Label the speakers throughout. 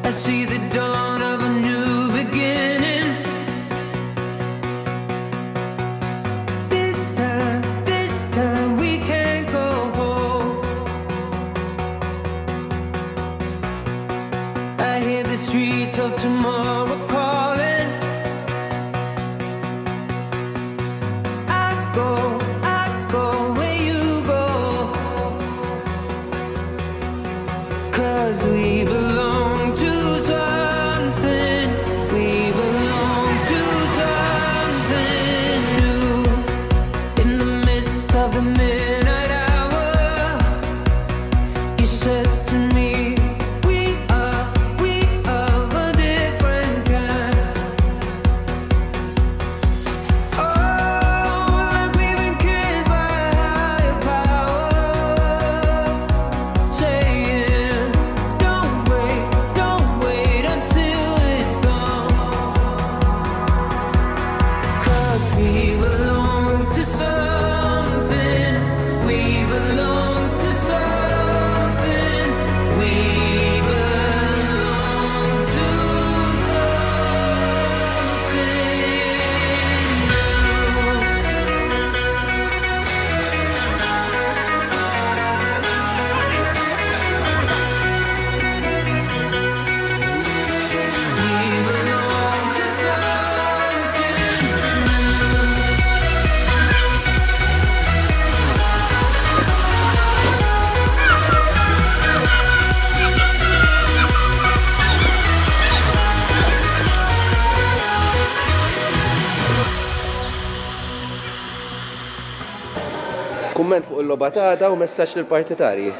Speaker 1: I see the dawn of a new beginning. This time, this time we can go home. I hear the streets of tomorrow calling. I go, I go where you go. Cause we belong to something. We belong to something new. In the midst of the midnight hour, you said to me, We are, we are a different kind. Oh, like we've been kissed by a higher power, saying, Don't wait, don't wait until it's gone. 'Cause we belong to something. We belong to something. We belong to something new. We belong to something new.
Speaker 2: Kumment fuq il-logħba ta' għada u messaġġ lill-partitarji.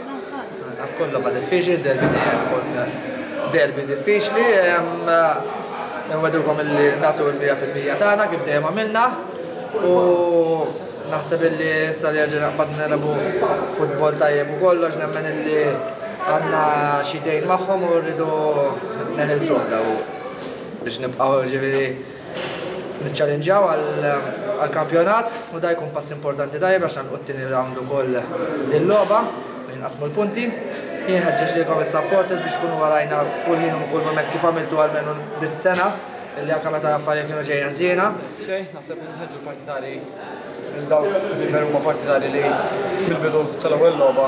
Speaker 3: Għaf tkun logħba diffiċli, derby dejjem ikun derby diffiċli. Nwedukom illi nagħtu l-100% tagħna kif dejjem għamilna u naħseb illi issa li ġejna qbadna nilagħbu futbol tajjeb u kollox nemmen illi għandna xi dejn magħhom u rridu neħilsuh daw biex nibqgħu ġifieri niċċallenġjaw għall-kampjonat u da jkun pass importanti tajjeb għax nagħlqu t-tieni round ukoll din logħba u jinqasmu l-punti. Jien ħeġġeġ lilkom is-supporters biex tkunu warajna kull ħin u kull moment kif għamiltu almenu dis-sena illi anke meta l-affarijiet kienu ġejjin ħżiena.
Speaker 4: Xejn, naħseb li nħeġġu partitari lil dawk li veru huma partitari li mill-bidu tal-ewwel logħba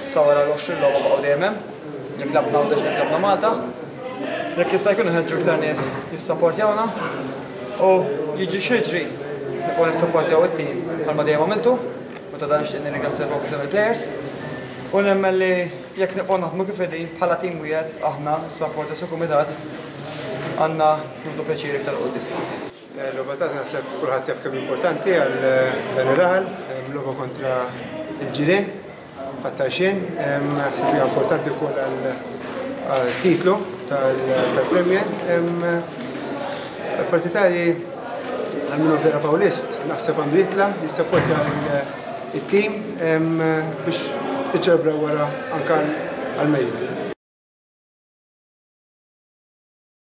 Speaker 4: sa wara l-20 logħba baqgħu dejjem hemm. Jekk lgħabna Għawdex, jekk lgħabna Malta. Jekk jista' jkun inħeġġu iktar nies jissapportjawna u jiġri x'jiġri nibqgħu nissapportjaw it-tim bħalma dejjem għamiltu u ta' dan nixtieq nirringrazzjakom f'isem il-players. U nemmen li jekk nibqgħu naħdmu kif qegħdin bħala tim wieħed aħna s-supporters u kumitat għandna nieħdu pjaċir iktar quddiem.
Speaker 5: Logħba ta' naħseb kulħadd jaf kemm importanti għal dan ir-raħal, logħba kontra il-ġirien tat-Tarxien, naħseb hija importanti wkoll għal titlu tal-Premier. Partitarji għal minnu vera Pawlist, naħseb għandu jitla, jissapportja it-tim biex iċċelebraw wara anka għal-mejju.